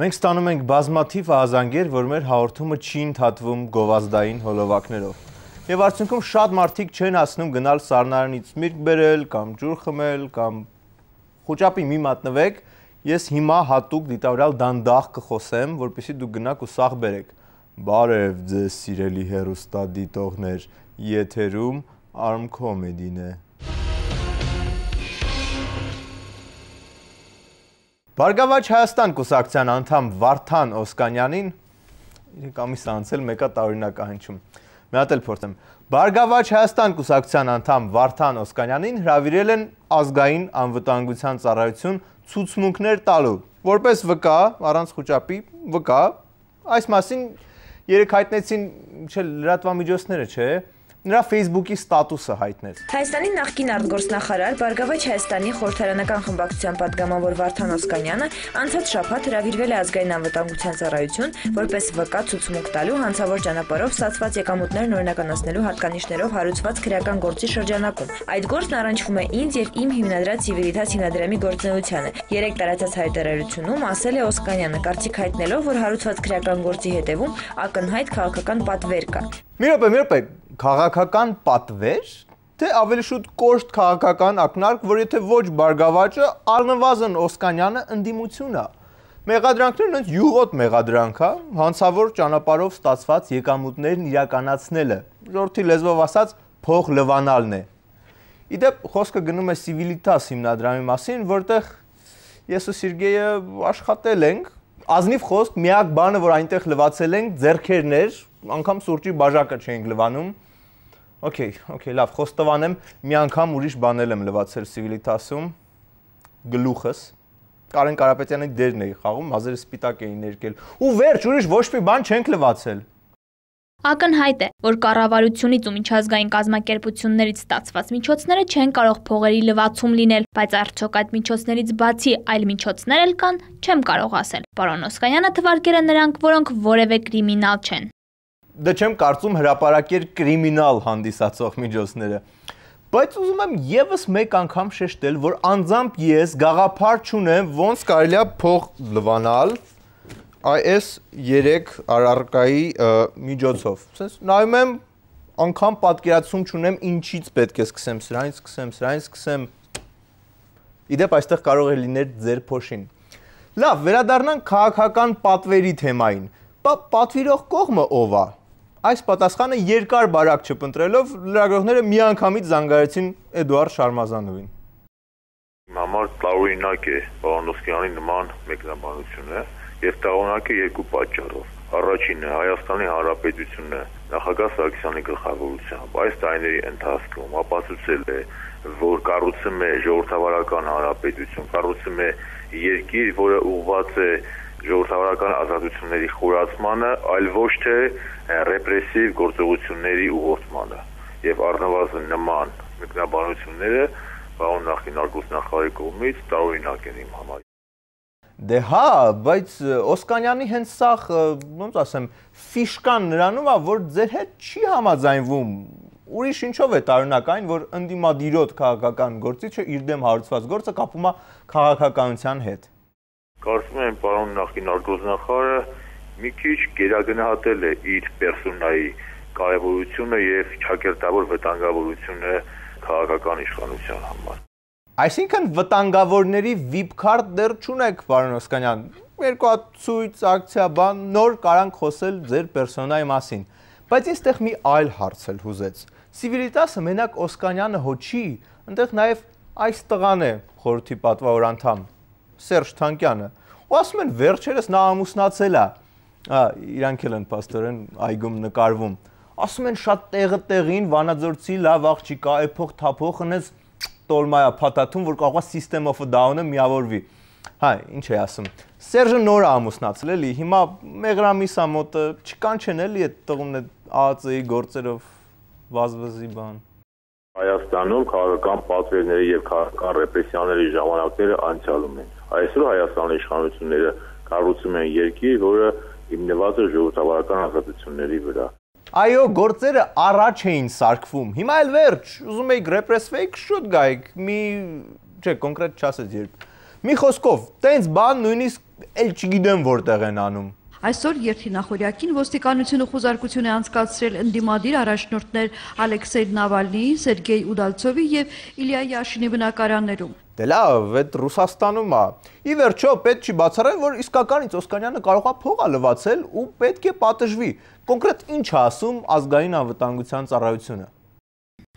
Մենք ստանում ենք բազմաթիվ ահազանգեր, որ մեր հաղորդումը չի ընդհատվում գովազդային հոլովակներով։ Եվ արդյունքում շատ մարդիկ չեն հասնում գնալ սառնարանից միրգ բերել, կամ ջուր խմել, կամ խոճապի մի մատնվեք, ես հիմա հատուկ դիտավորյալ դանդաղ կխոսեմ, որպեսզի դուք գնաք ու սաղ բերեք։ Բարև ձեզ սիրելի հեռուստադիտողներ, եթերում Arm Comedy-ն է։ Բարգավաճ Հայաստան կուսակցության անդամ Վարդան Օսկանյանին իրենք ամիս անցել մեկա տարօրինակ հնչում։ Մի հատ էլ փորձեմ։ Բարգավաճ Հայաստան կուսակցության անդամ Վարդան Օսկանյանին հրավիրել են ազգային անվտանգության ծառայություն ցուցմունքներ տալու, որպես վկա, առանց խոճապի, վկա, այս մասին երեք հայտնեցին լրատվամիջոցները, չէ՞։ Նրա Facebook-ի ստատուսը հայտնեց։ Հայաստանի նախկին արտգործնախարար Բարգավաճ Հայաստանի խորհրդարանական խմբակցության պատգամավոր Վարդան Օսկանյանը անցած շաբաթ հրավիրվել է ազգային անվտանգության ծառայություն, որպես վկա ցուցմունք տալու հանցավոր ճանապարհով ստացված եկամուտներն օրինականացնելու հատկանիշներով հարուցված քրեական գործի շրջանակում։ Այդ գործն առնչվում է ինձ եւ իմ հիմնադրած Civiltas հիմնադրամի գործունեությանը։ Երեք տարածած հայտարարությունում ասել է Օսկանյանը, կարծիք հայտնելով, որ հարուցված քրեական գործի հետևում ակնհայտ քաղաքական պատվեր կա։ Մի րոպե, քաղաքական պատվեր, թե ավելի շուտ կոշտ քաղաքական ակնարկ, որ եթե ոչ Բարգավաճը, առնվազն Օսկանյանը ընդդիմություն է։ Մեղադրանքներն ոնց յուղոտ մեղադրանք է, հանցավոր ճանապարհով ստացված եկամուտներն իրականացնելը, ժողովրդի լեզվով ասած փող լվանալն է։ Իդեպ խոսքը գնում է Civiltas հիմնադրամի մասին, որտեղ ես ու Սերգեյը աշխատել ենք, ազնիվ խոսք, միակ բանը, որ այնտեղ լվացել ենք, ձեռքերներ, անգամ սուրճի բաժակը չենք լվանում։ Okay, լավ, խոստովանեմ, մի անգամ ուրիշ բանել եմ լվացել Civiltas-ում, գլուխս, Կարեն Կարապետյանի դերն էի խաղում, մազերը սպիտակ էին ներկել, ու վերջ, ուրիշ ոչ մի բան չենք լվացել։ Ակնհայտ է, որ կառավարությունից ու միջազգային կազմակերպություններից ստացված միջոցները չեն կարող փողերի լվացում լինել, բայց արդյոք այդ միջոցներից բացի այլ միջոցներ էլ կան, չեմ կարող ասել։ Պարոն Օսկանյանը թվարկել է նրանք, որոնք որևէ կրիմինալ չեն։ Դե չեմ կարծում հրապարակեր կրիմինալ հանդիսացող միջոցները։ Բայց ուզում եմ եւս մեկ անգամ շեշտել, որ անձամբ ես գաղափար չունեմ ոնց կարելի է փող լվանալ այս 3 առարկայի միջոցով։ Ասես նայում եմ անգամ պատկերացում չունեմ ինչից պետք է սկսեմ, սրանից սկսեմ։ Իդեպ այստեղ կարող է լինել ձեր փոշին։ Լավ, վերադառնանք քաղաքական պատվերի թեմային։ Պատվիրող կողմը ով է։ Այս պատասխանը երկար բարակ չփնտրելով լրագրողները միանգամից զանգարեցին Էդուարդ Շարմազանովին։ Համար տարօրինակ է պարոն Օսկանյանի նման մեկնաբանությունը եւ տարօրինակ է երկու պատճառով։ Առաջինը Հայաստանի Հանրապետությունը նախագահ Սարգսյանի գլխավորությամբ այս տարիների ընթացքում ապացուցել է, որ կառուցում է ժողովրդավարական հանրապետություն, կառուցում է երկիր, որը ուղղված է ժողովրդավարական ազատությունների խորացմանը, այլ ոչ թե ռեպրեսիվ գործողությունների ուղղորդմանը։ Եվ առնվազն նման մեկնաբանությունները պարոն նախկին արտգործնախարարի կողմից տարօրինակ են իմ համար։ Դե հա, բայց Օսկանյանի հենց սա, ոնց ասեմ, ֆիշկան նրանում է, որ ձեր հետ չի համաձայնվում։ Ուրիշ ինչով է տարօրինակ այն, որ ընդդիմադիրոտ քաղաքական գործիչը իր դեմ հարուցված գործը կապում է քաղաքականության հետ։ Կարծում եմ պարոն նախկին արտգործնախարարը մի քիչ գերագնահատել է իր պերսոնայի կարևորությունը եւ ճակերտավոր վտանգավորությունը քաղաքական իշխանության համար։ Այսինքն վտանգավորների VIP card դեռ չունեք, պարոն Օսկանյան։ Երկու հատ ցույց, ակցիա, բան, նոր կարանք խոսել ձեր պերսոնայի մասին։ Բայց ինձ մի այլ հարց էլ հուզեց։ Civiltas-ը մենակ Օսկանյանը հո չի, այնտեղ նաեւ այս տղան է խորհրդի պատվավոր անդամ Սերժ Թանկյանը։ Ու ասում են վերջերս նա ամուսնացել է։ Իրանք էլ են պաստորեն այգում նկարվում։ Ասում են շատ տեղը տեղին Վանաձորցի լավ աղջիկա, էփող թափող հնես տոլմայա փաթաթում, որ կարող է System of a Down-ը միավորվի։ Հա, ինչ է ասում։ Սերժը նոր է ամուսնացել էլի, հիմա մեղրամիսա մոտը չկանչեն էլի այդ տղունն ԱԱԾ-ի գործերով վազվզի բան։ Հայաստանում քաղաքական պատվերների եւ քաղաքական ռեպրեսիաների ժամանակները անցյալում են։ Այսօր Հայաստանի իշխանությունները կառուցում են երկիր, որը հիմնված է ժողովրդավարական ազատությունների վրա։ Այո, գործերը առաջ էին սարքվում։ Հիմա էլ վերջ, ուզում եք ռեպրեսվեիք, շուտ գայք, չէ, կոնկրետ չասեց երբ։ Մի խոսքով, տենց բան նույնիսկ էլ չգիտեմ որտեղ են անում։ Այսօր երթինախորյակին ոստիկանությունը խուզարկություն է անցկացրել ընդդիմադիր առաջնորդներ Ալեքսեյ Նավալնիի, Սերգեյ Ուդալցովի եւ Իլիա Յաշինի բնակարաններում։ Դե լավ, այդ Ռուսաստանում է։ Ի վերջո պետք չի բացառել, որ իսկականից Օսկանյանը կարող է փող լվացել ու պետք է պատժվի։ Կոնկրետ ինչ է ասում ազգային անվտանգության ծառայությունը։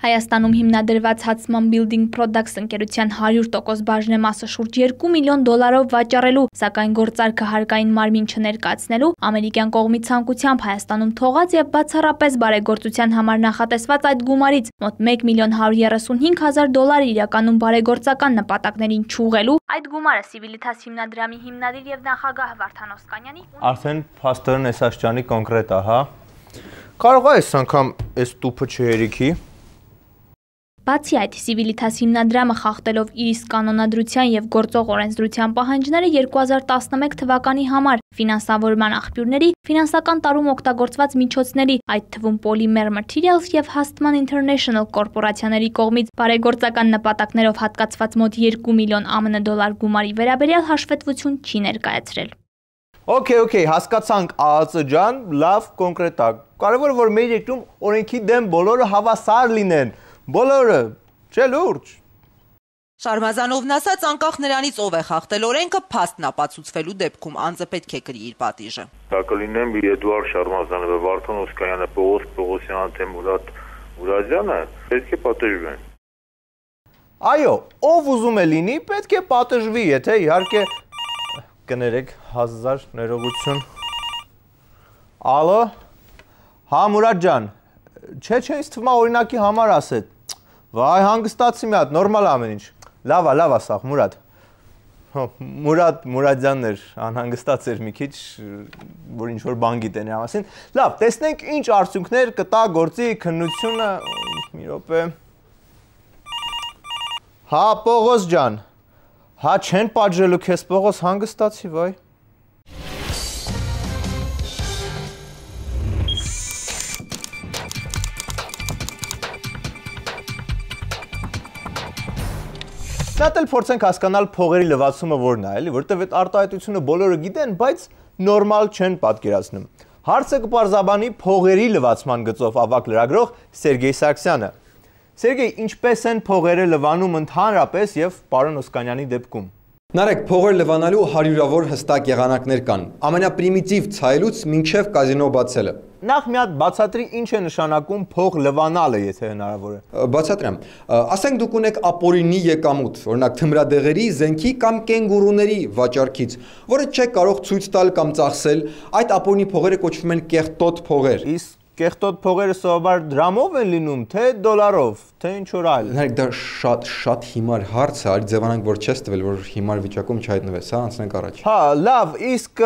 Հայաստանում հիմնադրված Hudson Building Products ընկերության 100% բաժնեմասը շուրջ 2 միլիոն դոլարով վաճառելու, սակայն գործարքը հարկային մարմին չներկայացնելու ամերիկյան կողմի ցանկությամբ Հայաստանում թողած եւ բացառապես բարեգործության համար նախատեսված այդ գումարից մոտ 1 միլիոն 135 հազար դոլարը իրականում բարեգործական նպատակներին չուղղելու այդ գումարը Civitas հիմնադրամի հիմնադիր եւ նախագահ Վարդան Օսկանյանի Արդեն փաստորեն այս աշճանի կոնկրետ է, հա։ Կարող է այս անգամ այս տուփը չհերիքի։ Բացի այդ, Civitas հիմնադրամը խախտելով իր իսկ կանոնադրության եւ գործող օրենսդրության պահանջները 2011 թվականի համար ֆինանսավորման աղբյուրների, ֆինանսական տարում օգտագործված միջոցների, այդ թվում Polymer Materials եւ Hustman International կորպորացիաների կողմից բարեգործական նպատակներով հատկացված մոտ 2 միլիոն ԱՄՆ դոլար գումարի վերաբերյալ հաշվետվություն չի ներկայացրել։ Okay, հասկացանք ԱԱԾ ջան, լավ կոնկրետ է։ Կարևորը որ մեր երկրում օրենքի դեմ բոլորը հավասար լինեն։ Բոլորը, չէ լուրջ։ Շարմազանովն ասաց, անկախ նրանից ով է խախտել օրենքը, փաստն ապացուցվելու դեպքում անձը պետք է կրի իր պատիժը։ Դա կլինեն Էդուարդ Շարմազանովը, Վարդան Օսկանյանը, Պողոս Պողոսյանը, թե Մուրադ Մուրադյանը, պետք է պատժվեն։ Այո, ով ուզում է լինի, պետք է պատժվի, եթե իհարկե կներեք 1000 ներողություն։ Ալո։ Հա Մուրադ ջան, չէ, ինձ թվում է օրինակի համար ասეთ։ Վայ, հանգստացի մի հատ, նորմալ ամեն ինչ։ Լավ է սա, Մուրադ։ Մուրադյանն էր, անհանգստաց էր մի քիչ, որ ինչ որ բան գիտեն իր մասին։ Լավ, տեսնենք ինչ արդյունքներ կտա գործի քննությունը, մի րոպե։ Հա, Պողոս ջան։ Հա, չեն պատժելու քեզ Պողոս, հանգստացի, վայ։ Շատ էլ փորձենք հասկանալ փողերի լվացումը որն է, էլի, որտեղ այդ արտահայտությունը բոլորը գիտեն, բայց նորմալ չեն պատկերացնում։ Հարցը կպարզաբանի փողերի լվացման գծով ավագ լրագրող Սերգեյ Սարգսյանը։ Սերգեյ, ինչպես են փողերը լվանում ընդհանրապես եւ պարոն Օսկանյանի դեպքում։ Նարեկ, փողեր լվանալու հարյուրավոր հստակ եղանակներ կան, ամենապրիմիտիվ ցայլուց մինչև կազինո բացելը։ Նախ մի հատ բացատրի ինչ է նշանակում փող լվանալը, եթե հնարավոր է։ Բացատրեմ։ Ասենք դուք ունեք ապօրինի եկամուտ, օրինակ թմրադեղերի, զենքի կամ կենգուրուների վաճառքից, որը չեք կարող ցույց տալ կամ ծախսել, այդ ապօրինի փողերը կոչվում են կեղտոտ փողեր։ Իսկ կեղտոտ փողերը սովորաբար դրամով են լինում, թե դոլարով, թե ինչ որ այլ։ Նարեկ, դա շատ հիմար հարց է, արի ձևանանք, որ չես տվել, որ հիմար վիճակում չհայտնվես, հա, անցնենք առաջ։ Հա, լավ, իսկ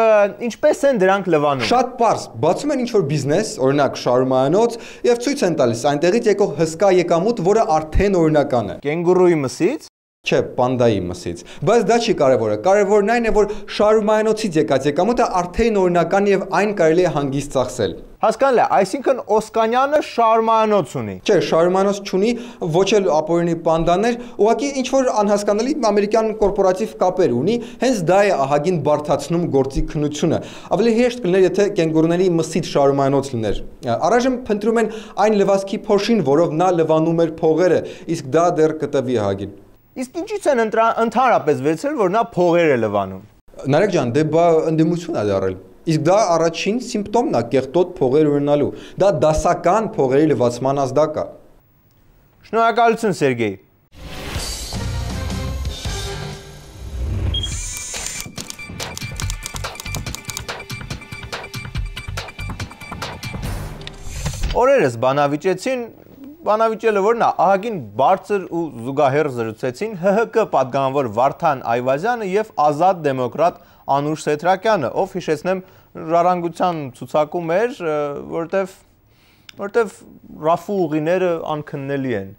ինչպես են դրանք լվանում։ Շատ պարզ, բացում են ինչ-որ բիզնես, օրինակ շարումանոց, եւ ցույց են տալիս այնտեղից եկող հսկա եկամուտ, որը արդեն օրինական է։ Կենգուրուի մսից։ Չէ, պանդայի մսից։ Բայց դա չի կարևորը։ Կարևորն այն է, որ շարումանոցից եկած եկամուտը արդեն օրինական եւ այն կարելի է հանգիստ ծախսել։ Հասկանալի է, այսինքն Օսկանյանը շարումանոց ունի։ Չէ, շարումանոց չունի, ոչ էլ ապօրինի պանդաներ, ուղղակի ինչ որ անհասկանալի ամերիկյան կորպորատիվ կապեր ունի, հենց դա է ահագին բարդացնում գործի քննությունը։ Ավելի հեշտ կլիներ, եթե կենգուրուների մսից շարումանոց լիներ։ Առայժմ փնտրում են այն լվացքի փոշին, որով նա լվանում էր փողերը, իսկ դա դեռ կտվի ահագին։ Իսկ ինչից են ընդհանրապես վերցրել, որ նա փողեր է լվանում։ Նարեկ ջան, դե բա ընդդիմություն է դարել։ Իսկ դա առաջին սիմպտոմն է կեղտոտ փողեր ունենալու։ Դա դասական փողերի լվացման ազդակ է։ Շնորհակալություն, Սերգեյ։ Օրերս բանավիճելը որն է, ահագին բարձր ու զուգահեռ զրուցեցին ՀՀԿ պատգամավոր Վարդան Այվազյանը եւ ազատ դեմոկրատ Անուշ Սեթրակյանը, ով հիշեցնեմ ժառանգության ցուցակում էր, որտեվ ռաֆու ուղիները անքննելի են։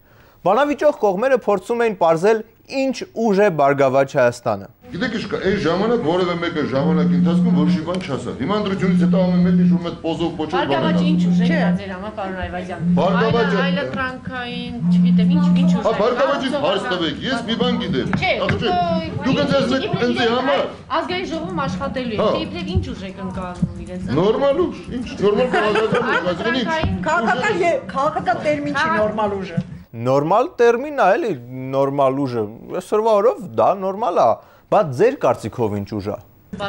Բանավիճող կողմերը փորձում էին պարզել ինչ ուժ է Բարգավաճ Հայաստանը։ Գիտեք ինչ կա, այս ժամանակ որևէ մեկը ժամանակի ընթացքում որոշի բան չասա։ Հիմա ընտրությունից հետո ամեն մեկը շուտ մեծ պոզով կոչել բան։ Բարգավաճը ինչ ուժ է ձեր համար, պարոն Այվազյան։ Բարգավաճը այլընտրանքային, չգիտեմ, ինչ ուժ է։ Բարգավաճից հարց տվեք, ես մի բան գիտեմ։ Դուք ինձ համար ազգային ժողովում աշխատելու եք, իբրև ինչ ուժ եք ընկալում իրենց։ Նորմալ ուժ, ինչ նորմալ բաղադրում, քաղաքական տերմին չի նորմալ ուժը։ Նորմալ տերմին է, էլի, նորմալ ուժը։ Այսօրվա օրով դա նորմալ է, բայց ձեր կարծիքով ինչ ուժ է։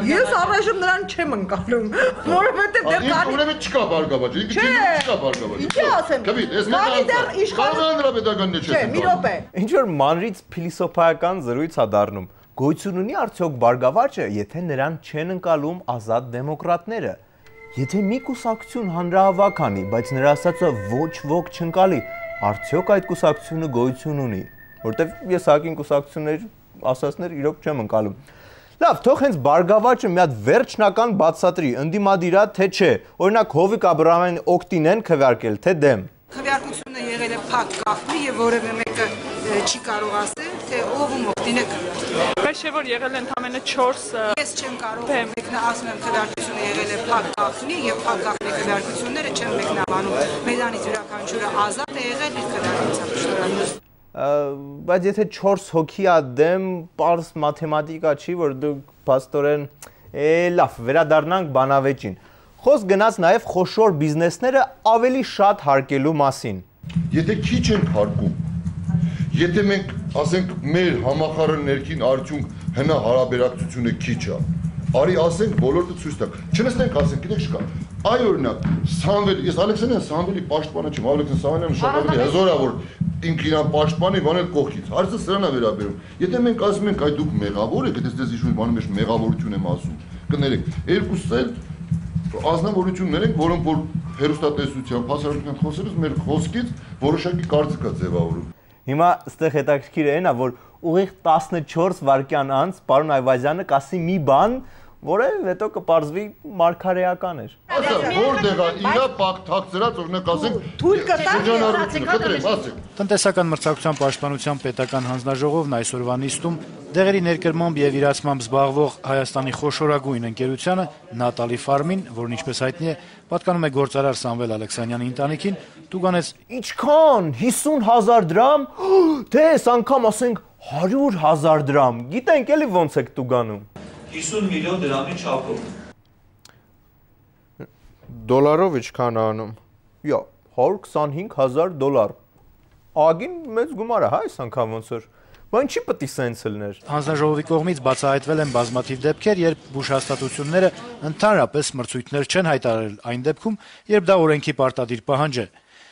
Ես առայժմ նրան չեմ ընկալում, որովհետև դեռ կանի ուրեմն չկա բարգավաճ, չկա բարգավաճ։ Ինչի ասեմ։ Կանի դեռ իշխանության Չէ, մի րոպե։ Ինչ որ մանրից փիլիսոփայական զրույց է դառնում։ Գոյություն ունի արդյոք բարգավաճը, եթե նրան չեն ընկալում ազատ դեմոկրատները։ Եթե մի կուսակցություն հանրահավաք անի, բայց նրա ասածը ոչ ոք չընկալի, արդյոք այդ կուսակցությունը գոյություն ունի, որտեվ ես հակին կուսակցություններ ասածներ իրոք չեմ ընկալում։ Լավ, թող հենց բարգավաճը մի հատ վերջնական բացատրի, ընդդիմադիր է թե չէ։ Օրինակ Հովիկ Աբրահամյանի օգտին են քվեարկել, թե դեմ։ Քվեարկությունը եղել է փակ գաղտնի եւ որևէ մեկը չի կարող ասել, թե ով ում օգտին է քվեարկել։ Բայց չէ որ եղել են ընդամենը 4 Ես չեմ կարող մեկնասում եմ քվեարկությունը եղել է փակ գաղտնի եւ փակ գաղտնի քվեարկությունները չեմ մեկնաբանում։ Մեզանից յուրաքանչյուրը ազատ է եղել իր քվեարկությամբ։ Շնորհակալ։ Բայց եթե 4 հոգի է դեմ, պարզ մաթեմատիկա չի, որ դուք փաստորեն լավ, վերադառնանք բանավեճին։ Խոսք գնաց նաև խոշոր բիզնեսները ավելի շատ հարկելու մասին։ Եթե քիչ ենք հարկում, եթե մենք ասենք մեր համախառն ներքին արդյունք հնա հարաբերակցությունը քիչ է, արի ասենք բոլորը ցույց տակ։ Չնստենք ասենք, գիտեք չկա։ Այ օրինակ, Սամվել, ես Ալեքսանդրյան Սամվելի պաշտպանը չեմ, Ալեքսանդր Սամվելյանը շատ ավելի հզոր է, որ ինքն իրան պաշտպանի, բանել կողքից։ Հարցը սրան է վերաբերում։ Եթե մենք ասում ենք, այ դուք մեղավոր եք, եթե դες ինչ-որ բանի մեջ մեղավորություն եմ ասում, կներեք, երկուսս էլ ազնվորություններ են, որոնք որ հերոստատեսությամբ հասարակության խոսելուց մեր խոսքից որոշակի կարծիք է ձևավորում։ Հիմա այստեղ հետաքրքիրը այն է, որ ուղիղ 14 վայրկյան անց պարոն Այվազյանը կասի մի բան, որը հետո կպարզվի մարգարեական էր։ Ասա, որտեղ է իրա պակ թաքցրած օրինակ ասենք թույլ կտա։ Տնտեսական մրցակցության պաշտպանության պետական հանձնաժողովն այսօրվա նիստում դեղերի ներկրմամբ եւ իրացմամբ զբաղվող Հայաստանի խոշորագույն ընկերությանը Նատալի Ֆարմին, որն ինչպես հայտնի է, պատկանում է գործարար Սամվել Ալեքսանյանի ընտանիքին, տուգանեց Ինչքան 50,000 դրամ, թե այս անգամ ասենք 100,000 դրամ։ Գիտենք էլի ոնց եք տուգանում։ 50 միլիոն դրամի չափով։ Դոլարով ինչքան անում։ Յա, 125,000 դոլար։ Ագին մեծ գումար է, հա, այս անգամ ոնց որ։ Բայց ինչի պետք է սենց լներ։ Հանձնաժողովի կողմից բացահայտվել են բազմաթիվ դեպքեր, երբ բուժհաստատությունները ընդհանրապես մրցույթներ չեն հայտարարել այն դեպքում, երբ դա օրենքի պարտադիր պահանջ է։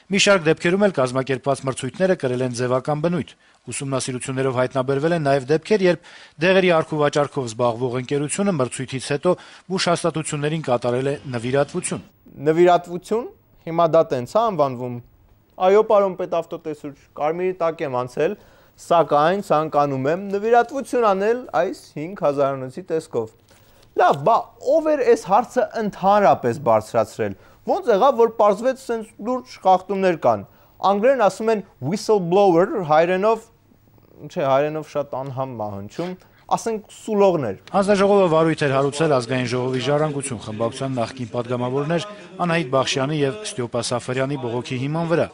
Մի շարք դեպքերում էլ կազմակերպված մրցույթները կրել են ձևական բնույթ։ Ուսումնասիրություններով հայտնաբերվել են նաև դեպքեր, երբ դեղերի առքու վաճառքով զբաղվող ընկերությունը մրցույթից հետո բուժհաստատություններին կատարել է նվիրատվություն։ Նվիրատվություն, հիմա դա տենց է անվանվում։ Այո, պարոն պետավտոտեսուչ, կարմիրի տակ եմ անցել, սակայն ցանկանում եմ նվիրատվություն անել այս 5,000-ի տեսքով։ Լավ, բա ով էր այս հարցը ընդհանրապես բարձրացրել։ Ոնց եղավ, որ պարզվեց սենց լուրջ խախտումներ կան։ Անգլերեն ասում են whistleblower, հայերենով, չէ, հայերենով շատ անհամ մահնչում, ասենք սուլողներ։ Հանձնաժողովը վարույթ էր հարուցել ազգային ժողովի ժառանգություն խմբակցության նախկին падգամավորներ Անահիտ Բախշյանի եւ Ստյոպա Սաֆարյանի բողոքի հիման վրա։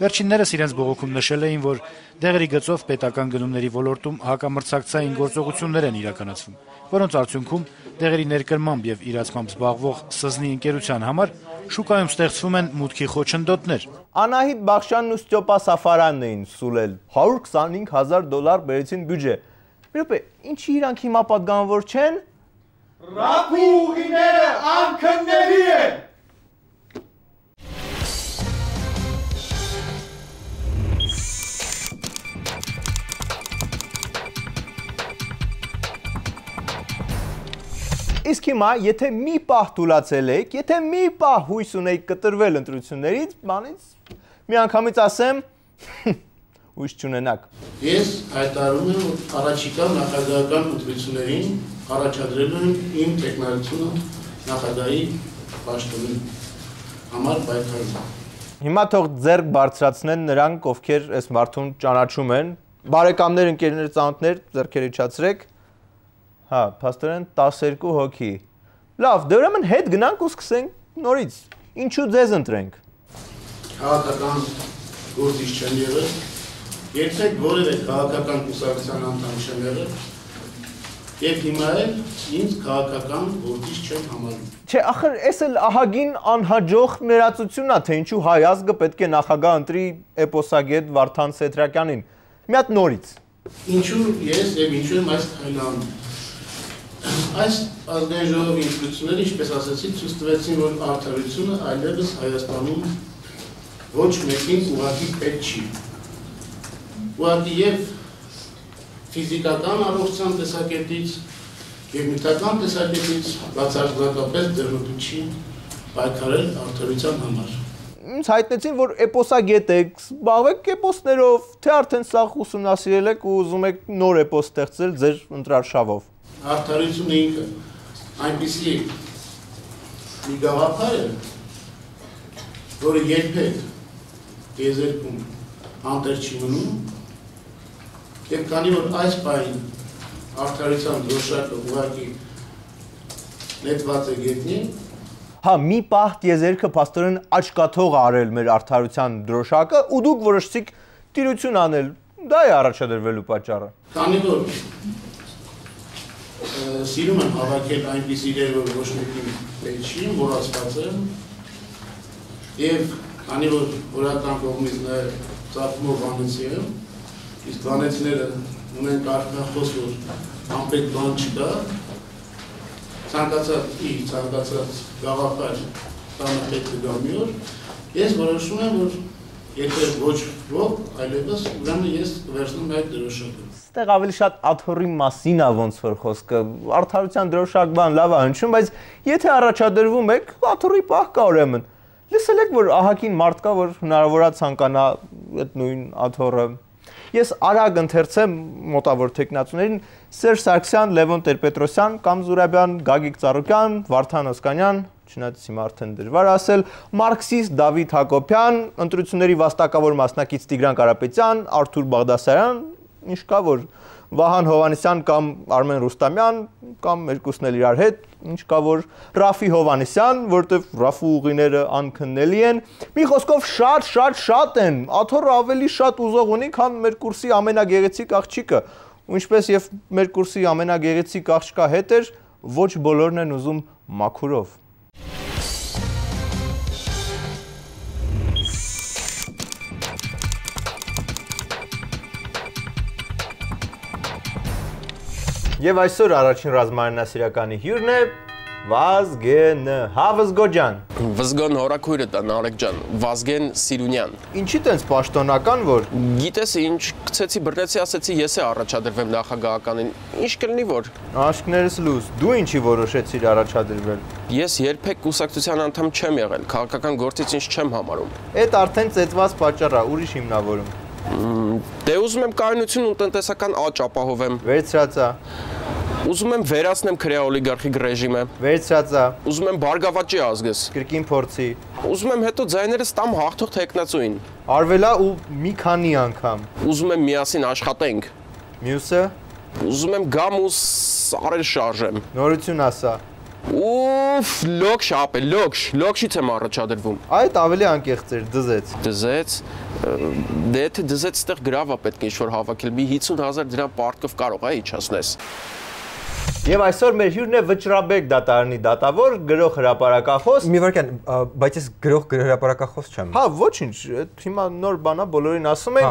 Վերջիններս իրենց բողոքում նշել էին, որ դեղերի գծով պետական գնումների ոլորտում հակամրցակցային գործողություններ են իրականացվում, որոնց արդյունքում դեղերի ներկրմամբ եւ իրացմամբ զբաղվող սզնի ընկերության համար շուկայում ստեղծվում են մուտքի խոչընդոտներ։ Անահիտ Բախշյանն ու Ստյոպա Սաֆարյանն էին սուլել, 125,000 դոլար բերեցին բյուջե։ Մի րոպե, ինչի իրանք հիմա պատգամավոր չեն։ Ռափուղիները անքնների են։ Իսկ հիմա, եթե մի պահ թուլացել եք, եթե մի պահ հույս ունեիք կտրվել ընտրություններից, բանից միանգամից ասեմ, հույս չունենաք։ Ես հայտարարում եմ, որ առաջիկա նախագահական ընտրություններին առաջադրել եմ իմ տեխնոլոգիությունը նախագահի պաշտոնի համար պայքարում։ Հիմա թող ձեռք բարձրացնեն նրանք, ովքեր այս մարդուն ճանաչում են, բարեկամներ, ընկերներ, ծանոթներ, ձեռքերը իջացրեք։ Հա, փաստորեն 12 հոգի։ Լավ, դե ուրեմն հետ գնանք ու սկսենք նորից։ Ինչու ձեզ ընտրենք։ Քաղաքական գործիչ չեմ եղել, երբեք որևէ քաղաքական կուսակցության անդամ չեմ եղել, եւ հիմա էլ ինձ քաղաքական գործիչ չեմ համարում։ Չէ, ախր էս էլ ահագին անհաջող ներածությունն է, թե ինչու հայ ազգը պետք է նախագահ ընտրի էպոսագետ Վարդան Սեդրակյանին։ Մի հատ նորից։ Ինչու ես եւ ինչու եմ այս քայլը անում։ Այս ազգային ժողովի ինստիտուտները, ինչպես ասացի, ցույց տվեցին, որ արդարությունը այլևս Հայաստանում ոչ մեկին ուղղակի պետք չի։ Ուղղակի եւ ֆիզիկական առողջության տեսակետից եւ նյութական տեսակետից բացարձակապես դեռնուտու չի պայքարել արդարության համար։ Ինձ հայտնեցին, որ էպոսագետ եք, զբաղվեք էպոսներով, թե արդեն սաղ ուսումնասիրել եք ու ուզում եք նոր էպոս ստեղծել ձեր ընտրարշավով։ Արդարությունը ինքը այնպիսի մի գաղափար է, որը երբեք եզերքում անտեր չի մնում, եւ քանի որ այս պահին արդարության դրոշակը ուղղակի նետված է գետնին, հա, մի պահ տիեզերքը փաստորեն աչքաթող արել մեր արդարության դրոշակը ու դուք որոշեցիք տիրություն անել։ Դա է առաջադրվելու պատճառը։ Քանի որ սիրում եմ հավաքել այնպիսի իրեր, որ ոչ մեկին պետք չի, մոռացված եմ, եւ քանի որ օրական կողմից նաև ծագումով վանեցի եմ, իսկ վանեցիները ունեն կարգախոս, որ անպետք բան չկա, ցանկացած գաղափար տանը պետք է գա մի օր, ես որոշում եմ, որ եթե ոչ ոք, այլևս ուրեմն ես կվերցնում այդ դրոշակը։ Այստեղ ավելի շատ աթոռի մասին է ոնց որ խոսքը, արդարության դրոշակ բան լավ է հնչում, բայց եթե առաջադրվում եք, աթոռի պահ կա ուրեմն։ Լսել եք, որ ահագին մարդ կա, որ հնարավոր է ցանկանա այդ նույն աթոռը։ Ես արագ ընթերցեմ մոտավոր տեխնացուներին Սերժ Սարգսյան, Լևոն Տեր-Պետրոսյան, Կամ Զուրաբյան, Գագիկ Ծառուկյան, Վարդան Օսկանյան, չնայած հիմա արդեն դժվար ասել, մարքսիստ Դավիթ Հակոբյան, ընտրությունների վաստակավոր մասնակից Տիգրան Կարապետյան, Արթուր Բաղդասարյան, ինչ կա որ Վահան Հովհաննիսյան կամ Արմեն Ռուստամյան կամ մերկուսն էլ իրար հետ, ինչ կա որ Ռաֆի Հովհաննիսյան, որտեվ Ռաֆու ուղիները անքննելի են։ Մի խոսքով շատ են, աթոռը ավելի շատ ուզող ունի, քան մեր կուրսի ամենագեղեցիկ աղջիկը։ Ու ինչպես եւ մեր կուրսի ամենագեղեցիկ աղջկա հետ էր, ոչ բոլորն են ուզում մաքուրով։ Եվ այսօր առաջին ռազմարանասիրականի հյուրն է Վազգենը, հա Վզգո ջան։ Վզգոն հորաքույրը տա Նարեկ ջան, Վազգեն Սիրունյան։ Ինչի տենց պաշտոնական որ։ Գիտես ինչ, գցեցի բռնեցի, ասեցի ես է առաջադրվեմ նախագահականին։ Ինչ կլինի որ։ Աշկներս լուզ, դու ինչի որոշեցիր առաջադրվել։ Ես երբեք կուսակցության անդամ չեմ եղել, քաղաքական գործից ինչ չեմ համարում։ Այդ արդեն ծեծված պատճառ է, ուրիշ հիմնավորում։ Դե ուզում եմ կայունություն ու տնտեսական աճ ապահովեմ։ Վերցրած է։ Ուզում եմ վերացնեմ քրեա օլիգարխիկ ռեժիմը։ Վերցրած է։ Ուզում եմ բարգավաճի ազգս։ Կրկին փորձի։ Ուզում եմ հետո ձայներս տամ հաղթող տեխնացուին։ Արվելա ու մի քանի անգամ։ Ուզում եմ միասին աշխատենք։ Մյուսը։ Ուզում եմ գամ ու սարեր շարժեմ։ Նորություն ասա։ Ուֆ, լոքշ ապե, լոքշից եմ առաջադրվում։ Այդ ավելի անկեղծ էր, դզեց։ Դզեց։ Դե եթե դզեց ստեղ գրավ է պետք է ինչ-որ հավաքել, մի 50,000 դրամ պարտքով կարող է իջացնես։ Եվ այսօր մեր հյուրն է Վճռաբեկ դատարանի դատավոր, գրող հրապարակախոս։ Մի վարքան, բայց ես գրող հրապարակախոս չեմ։ Հա, ոչինչ, հիմա նոր բան է, բոլորին ասում են,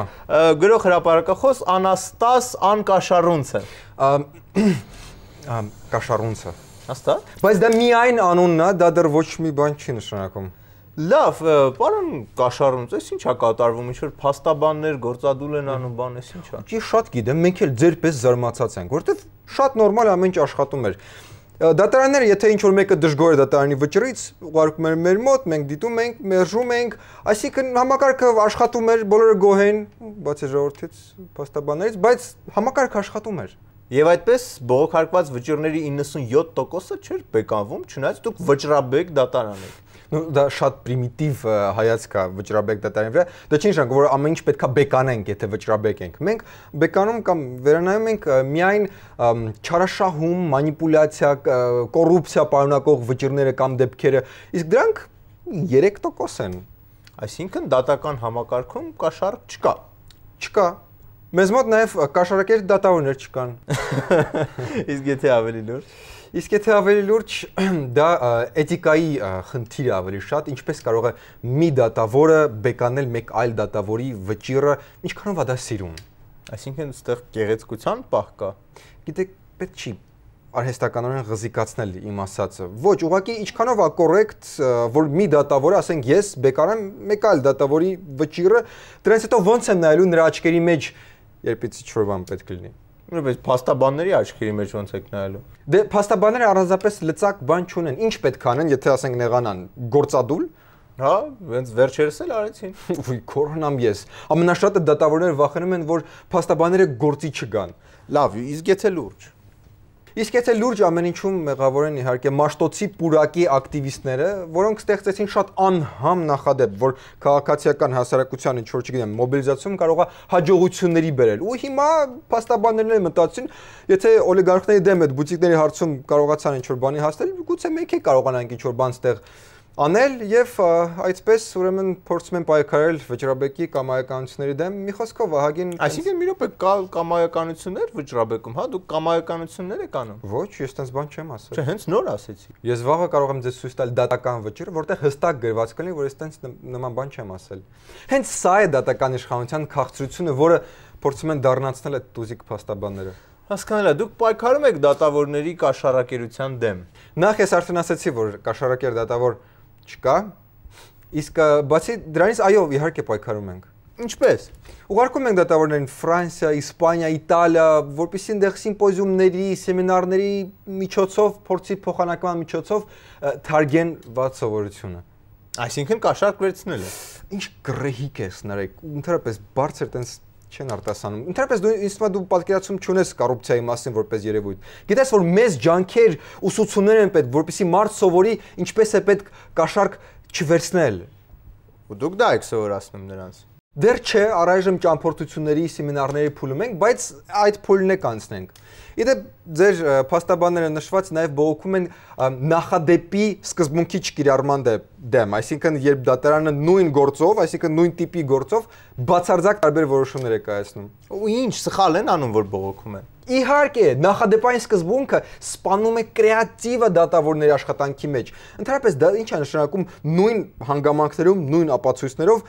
գրող հրապարակախոս Անաստաս Անկաշառունցը։ Կաշառունցը։ Հաստատ։ Բայց դա միայն անունն է, դա դեռ ոչ մի բան չի նշանակում։ Լավ, պարոն Կաշառունց, այս ի՞նչ է կատարվում, ինչ-որ փաստաբաններ գործադուլ են անում, բան էս ի՞նչ է։ Ես շատ գիտեմ, մենք էլ ձեր պես զարմացած ենք, որովհետև շատ նորմալ ամեն ինչ աշխատում էր։ Դատարանները, եթե ինչ-որ մեկը դժգոհ է դատարանի վճռից, ուղարկում էր մեր մոտ, մենք դիտում ենք, մերժում ենք, այսինքն համակարգը աշխատում էր, բոլորը գոհ են, բացի ժողովրդից, փաստաբաններից, բայց համակարգը աշխատում էր։ Եվ այդպես բողոքարկված վճիռների 97%-ը չէր բեկանվում, չնայած դուք վճռաբեկ դատարան եք։ Ну դա շատ պրիմիտիվ հայացք է վճռաբեկ դատարանի վրա։ Դա չի նշանակում, որ ամեն ինչ պետքա բեկանենք, եթե վճռաբեկ ենք։ Մենք բեկանում կամ վերանայում ենք միայն չարաշահում, մանիպուլյացիա, կոռուպցիա պարունակող վճիռները կամ դեպքերը, իսկ դրանք 3% են։ Այսինքն դատական համակարգում կաշառք չկա։ Չկա։ Մեզ մոտ նաև կաշառակեր դատավորներ չկան։ Իսկ եթե ավելի լուրջ Իսկ եթե ավելի լուրջ, դա էթիկայի խնդիր է ավելի շատ, ինչպես կարող է մի դատավորը բեկանել մեկ այլ դատավորի վճիռը, ինչքանով է դա սիրում։ Այսինքն այստեղ գեղեցկության պահ կա։ Գիտեք, պետք չի արհեստականորեն ղզիկացնել իմ ասածը։ Ոչ, ուղղակի ինչքանով է կոռեկտ, որ մի դատավորը, ասենք ես բեկանեմ մեկ այլ դատավորի վճիռը, դրանից հետո ոնց եմ նայելու նրա աչքերի մեջ, երբ ինչ-որ բան պետք լինի։ Բայց փաստաբանների աչքերի մեջ ոնց եք նայելու։ Դե փաստաբանները առանձնապես լծակ բան չունեն։ Ինչ պետք անեն, եթե ասենք նեղանան, գործադուլ։ Հա, հենց վերջերս էլ արեցին։ Ուй, կորոնամ ես։ Ամենաշատը դատավորները վախենում են, որ փաստաբանները գործի չգան։ Լավ, իսկ եթե լուրջ։ Իսկ եթե լուրջ ամեն ինչում մեղավոր են իհարկե մաշտոցի պուրակի ակտիվիստները, որոնք ստեղծեցին շատ անհամ նախադեպ, որ քաղաքացիական հասարակության ինչ-որ չգիտեմ, մոբիլիզացիոն կարող է հաջողությունների բերել։ Ու հիմա փաստաբաններն են մտածին, եթե օլիգարխների դեմ այդ բուտիկների հարցում կարողացան ինչ-որ բանի հասնել, գուցե մենք էլ կարողանանք ինչ-որ բան ստեղ անել եւ այդպես ուրեմն փորձում են պայքարել վճռաբեկի կամայականությունների դեմ։ Մի խոսքով ահագին Այսինքն մի րոպե կա կամայականություններ վճռաբեկում, հա, դուք կամայականություններ եք անում։ Ոչ, ես տենց բան չեմ ասել։ Չէ, հենց նոր ասեցի։ Ես վաղը կարող եմ ձեզ ցույց տալ դատական վճիռ, որտեղ հստակ գրված կլինի, որ ես տենց նման բան չեմ ասել։ Հենց սա է դատական իշխանության քաղցրությունը, որը փորձում են դառնացնել այդ տուզիկ փաստաբանները։ Հասկանալի է, դուք պայքարում եք դատավորների կաշառակերության դեմ։ Նախ ես արդեն ասացի, որ կաշառակեր դատավոր չկա, իսկ բացի դրանից այո, իհարկե պայքարում ենք։ Ինչպես։ Ուղարկում ենք դատավորներին Ֆրանսիա, Իսպանիա, Իտալիա, որպեսզի այնտեղ սիմպոզիումների, սեմինարների միջոցով, փորձի փոխանակման միջոցով թարգեն ված սովորությունը։ Այսինքն կաշառք վերցնել է։ Ինչ գրեհիկ ես նարեկ, ընդհանրապես բարձր տենց չեն արտասանում։ Ընդհանրապես դու ինձ թվում է դու պատկերացում չունես կոռուպցիայի մասին որպես երևույթ։ Գիտես որ մեծ ջանքեր, ուսուցումներ են պետք, որպեսզի մարդ սովորի ինչպես է պետք կաշառք չվերցնել։ Ու դուք դա եք սովորացնում նրանց։ Դեռ չէ, առայժմ ճամփորդությունների, սեմինարների փուլում ենք, բայց այդ փուլն է կանցնենք։ Իդեպ ձեր փաստաբանները նշված նաև բողոքում են նախադեպի սկզբունքի չկիրառման դեմ, այսինքն երբ դատարանը նույն գործով, այսինքն նույն տիպի գործով բացարձակ տարբեր որոշումներ է կայացնում։ Ու ինչ սխալ են անում, որ բողոքում են։ Իհարկե, նախադեպային սկզբունքը սպանում է կրեատիվը դատավորների աշխատանքի մեջ։ Ընդհանրապես դա ինչ է նշանակում նույն հանգամանքներում, նույն ապացույցներով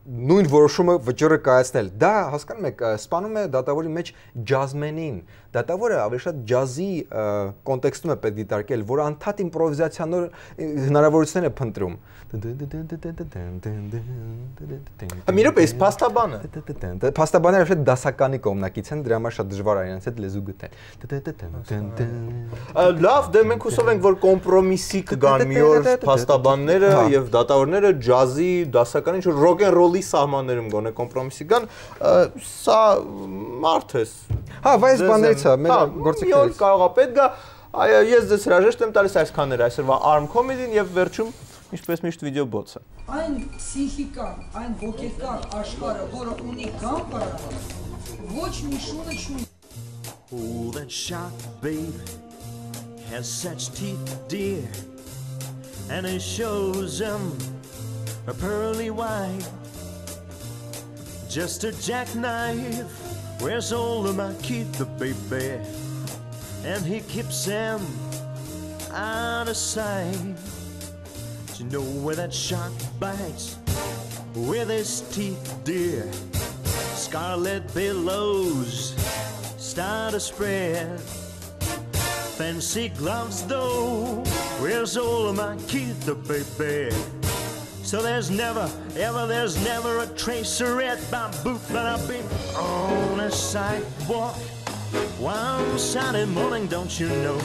նույն որոշումը վճիռը կայացնել։ Դա հասկանում եք, սպանում է դատավորի մեջ ջազմենին։ Դատավորը ավելի շատ ջազի կոնտեքստում է պետք դիտարկել, որ անդադ իմպրովիզացիոններ հնարավորություններ է փնտրում։ Մի րոպե, իսկ փաստաբանը։ Փաստաբանները շատ դասականի կողմնակից են, դրա համար շատ դժվար է իրենց հետ լեզու գտնել։ Լավ, դե մենք հուսով ենք, որ կոմպրոմիսի կգան մի օր փաստաբանները եւ դատավորները ջազի դասական ինչ-որ ռոք-ն-ռոլի սահմաններում գոնե կոմպրոմիսի գան, սա մարդ է։ Հա, բայց բաներից է, մեր գործիքներից։ Կարող է պետք գա, ես ձեզ հրաժեշտ եմ տալիս այսքանները այսօրվա Arm Comedy-ին եւ վերջում ինչպես միշտ վիդեո բոցը։ Այն պսիխիկան, այն ոգեկան աշխարհը, որը ունի գամբարը, ոչ մի շունը չունի։ Oh, that shark, babe, has such teeth, dear, and it shows them a pearly white. Just a jackknife, where's all of my teeth, baby, and he keeps them out of sight. You know where that shark bites with his teeth, dear. Scarlet billows start to spread. Fancy gloves, though, where's all of my teeth, baby? So there's never, ever, there's never a tracer at my boot, but I'll be on a sidewalk one Saturday morning, don't you know?